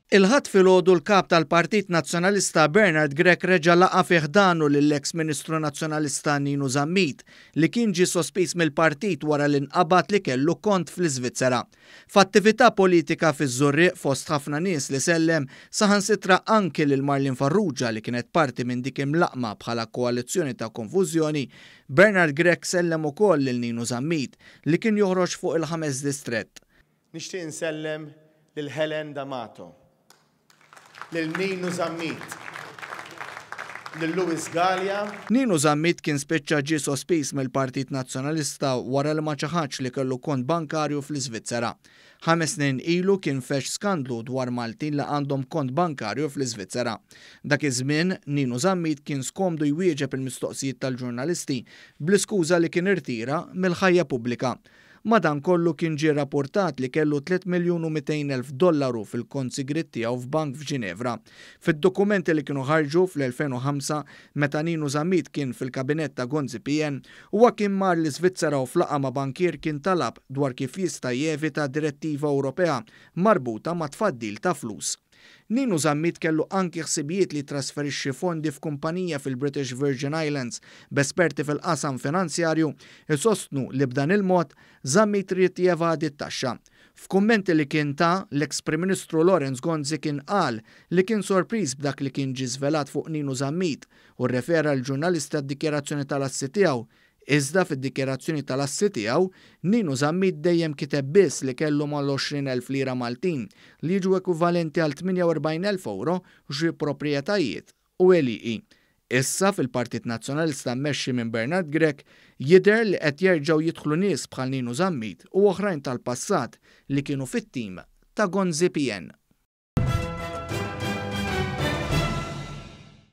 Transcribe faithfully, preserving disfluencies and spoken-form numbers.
Il-Ħadd filgħodu l-kap tal-Partit Nazzjonalista Bernard Grech reġa' laqa' fi ħdanu lill-eks Ministru Nazzjonalista Ninu Zammit, li kien ġie sospiż mill-partit wara li nqabad li kellu kont fl-Iżvizzera. F'attività politika fiż-Żurrieq, fost ħafna nies li sellem, saħansitra anki lil Marlene Farrugia li kienet parti minn dik imlaqqma bħala koalizzjoni ta' konfużjoni, Bernard Grech sellem ukoll lil Ninu Zammit li kien joħroġ fuq il-ħames distrett. Nixtieq insellem lil Helen D'Amato, lil Ninu Zammit, lil Louis Galea. Ninu Zammit kien spiċċa ġie sospiż mill-Partit Nazzjonalista wara li ma ċaħadx li kellu kont bankarju fl-Iżvizzera. Ħames snin ilu kien feġġ skandlu dwar Maltin li għandhom kont bankarju fl-Iżvizzera. Dak iż-żmien Ninu Zammit kien skomdu jwieġeb il-mistoqsijiet tal-ġurnalisti bl-iskuża li kien irtira mill-ħajja pubblika. Madankollu kien ġie rapportat li kellu tliet miljun u mitejn elf dollaru fil-kont sigriet tiegħu f'bank f'Ġinevra. Fid-dokumenti li kienu ħarġu fl-elfejn u ħamsa meta Ninu Zammit kien fil-kabinett ta' Gonzi P N, huwa kien mar l-Iżvizzera u f'laqgħa ma' bankier kien talab dwar kif jista' jevita direttiva Ewropea marbuta ma' tfaddil ta' flus. Ninu Zammit kellu anki ħsibijiet li trasferixxi fondi f'kumpanija fil-British Virgin Islands, b'esperti fil-qasam finanzjarju isostnu li b'dan il-mod Zammit ried jevadi t-taxxa. F'kummenti li kien ta, l-eks Prim Ministru Lawrence Gonzi kien qal li kien sorpriż b'dak li kien ġie żvelat fuq Ninu Zammit u rrefera l-ġurnalista d-dikjarazzjoni tal-assi tiegħu. Iżda fid-dikjarazzjoni tal-assi tiegħu, Ninu Zammit dejjem kiteb biss li kellu mal-għoxrin elf lira Maltin li jiġu ekwivalenti għal tmienja u erbgħin elf euro xi proprjetajiet u għelieqi. Issa fil-Partit Nazzjonalista mmexxi minn Bernard Grech jidher li qed jerġgħu jidħlu nies bħal Ninu Zammit u oħrajn tal-passat li kienu fit-tim ta' Gonzi P N.